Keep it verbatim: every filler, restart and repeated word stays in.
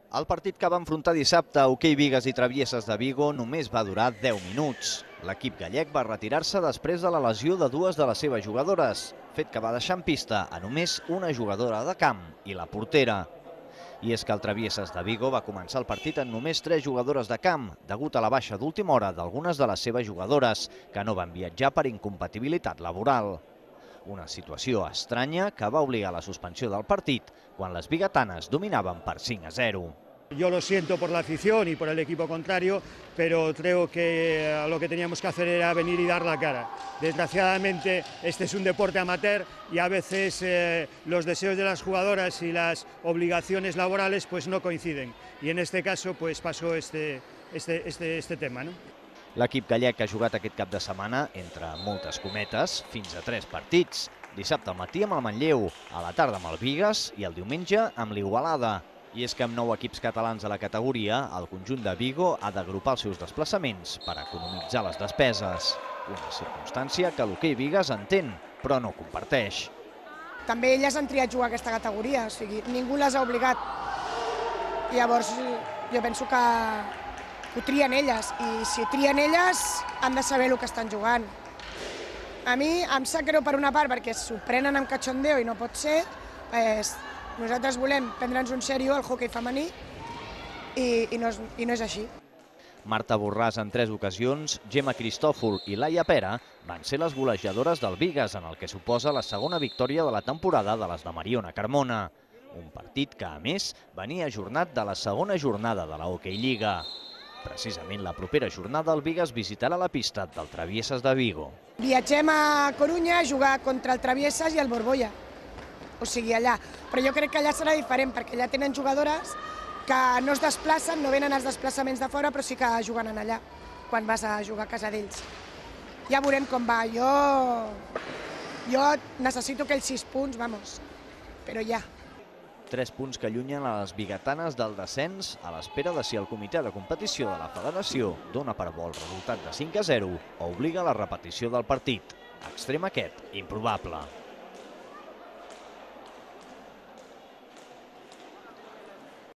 El partit que va enfrontar dissabte Hoquei Bigues i Travieses de Vigo només va durar deu minuts. L'equip gallec va retirar-se després de la lesió de dues de les seves jugadores, fet que va deixar en pista a només una jugadora de camp i la portera. I és que el Travieses de Vigo va començar el partit amb només tres jugadores de camp, degut a la baixa d'última hora d'algunes de les seves jugadores, que no van viatjar per incompatibilitat laboral. Una situació estranya que va obligar a la suspensió del partit quan les biguetanes dominaven per cinc a zero. Yo lo siento por la afición y por el equipo contrario, pero creo que lo que teníamos que hacer era venir y dar la cara. Desgraciadamente, este es un deporte amateur y a veces eh, los deseos de las jugadoras y las obligaciones laborales pues no coinciden. Y en este caso pues pasó este, este, este, este tema, ¿no? L'equip gallec ha jugat aquest cap de setmana, entre moltes cometes, fins a tres partits. Dissabte al matí amb el Manlleu, a la tarda amb el Bigues i el diumenge amb l'Igualada. I és que amb nou equips catalans a la categoria, el conjunt de Vigo ha d'agrupar els seus desplaçaments per economitzar les despeses. Una circumstància que l'Hoquei Bigues entén, però no comparteix. També elles han triat jugar a aquesta categoria, o sigui, ningú les ha obligat. Llavors, jo penso que ho trien elles, i si trien elles han de saber el que estan jugant. A mi em sap greu per una part perquè s'ho prenen amb cachondeo i no pot ser. Pues, nosaltres volem prendre'ns un sèrio al hoquei femení i, i, no és, i no és així. Marta Borràs en tres ocasions, Gemma Cristòfol i Laia Pera van ser les golejadores del Bigues en el que suposa la segona victòria de la temporada de les de Mariona Carmona. Un partit que, a més, venia ajornat de la segona jornada de la Hoquei Lliga. Precisament la propera jornada el Bigues visitarà la pista del Travieses de Vigo. Viatgem a Corunya a jugar contra el Travieses i el Borbolla, o sigui allà. Però jo crec que allà serà diferent perquè allà tenen jugadores que no es desplacen, no venen els desplaçaments de fora, però sí que juguen allà quan vas a jugar a casa d'ells. Ja veurem com va. Jo, jo necessito aquells sis punts, vamos, però ja. Tres punts que allunyen a les biguetanes del descens a l'espera de si el comitè de competició de la federació dona per bo el resultat de cinc a zero o obliga a la repetició del partit. Extrem aquest, improbable.